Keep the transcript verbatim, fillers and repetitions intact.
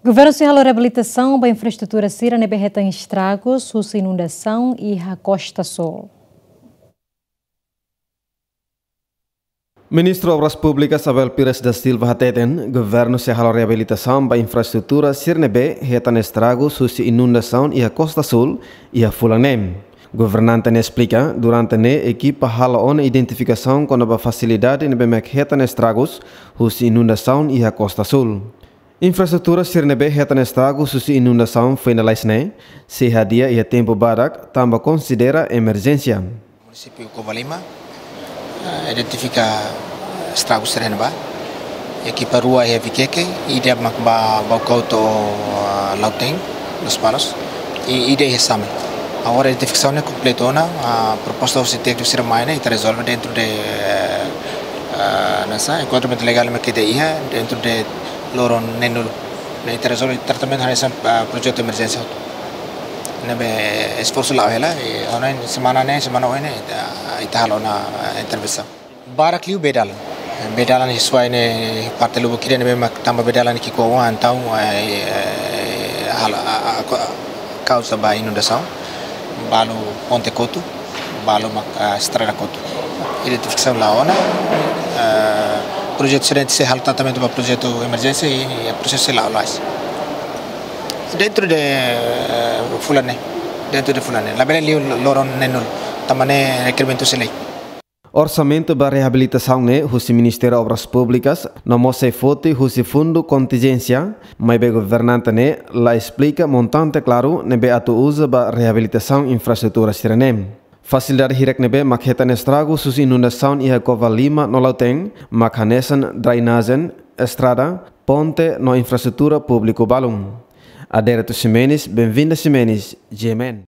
Governu sei halo reabilitasaun ba infraestrutura sira ne'ebé hetan estragus husi inundasaun iha Kosta Súl. Ministru Obras Públikas Abel Pires da Silva hateten, governu sei halo reabilitasaun ba infraestrutura sira ne'ebé hetan estragus husi inundasaun iha Kosta Súl iha fulan ne'e. Governante ne'e esplika, durante ne'e ekipa halo ona identifikasaun kona-ba fasilidade ne'ebé mak hetan estragus husi inundasaun iha Kosta Súl. Infraestrutura sira ne'ebé hetan estragus husi inundasaun foin lalais ne'e sei hadi'a iha tempu badak tanba konsidera emerjénsia. Munisípiu Covalima, eh, identifika estragus sira ne'ebá. Ekipa rua iha Viqueque, ida mak ba Baucau to'o, ah, Lautém, Lospalos, i ida iha Same. Agora identifikasaun ne'e kompletu ona, ah, proposta husi tékniku sira mai ne'e, ita rezolve dentro de, eh, ah, nasa, enkuadramentu legál mak ita iha, dentro de loron neen-nulu. Ne'e ita rezolve tratamentu hanesan, ah, projetu emerjénsia hotu. Ne'ebé esforsu la'o hela, i ona semana ne'e, semana oin ne'e, ita, ita halo ona, ah, intervensaun. Barak liu bee dalan. Bee dalan iha suai ne'e parte lubuk ida ne'ebé mak tanba bee dalan ki'ik-oan entaun, eh, eh, halo, a, a, a, ko-, kauza ba inundasaun. Balu ponte kotu, balu mak, ah, estrada kotu. Identifikasaun la'o ona, eh, projetu sira ne'e sei halo tratamentu ba projetu emerjénsia i, i prosesu sei la'o lais. Dentro de, eh, fulan ne'e, dentro de fulan ne'e. Labele liu loron neen-nulu, tanba ne'e rekerimentu husi lei. Orsamentu ba reabilitasaun ne'e husi Ministériu Obras Públikas, no mós sei foti husi fundu kontinjénsia, maibé governante ne'e la esplika montante klaru ne'ebé atu uza ba reabilitasaun infraestrutura sira ne'e. Fasilidade hirak ne'ebé mak hetan estragus husi inundasaun iha Covalima no Lautém, mak hanesan drainajen, estrada, ponte no infraestrutura públiku balun. Adérito Ximenes, Benvinda Ximenes, G M N.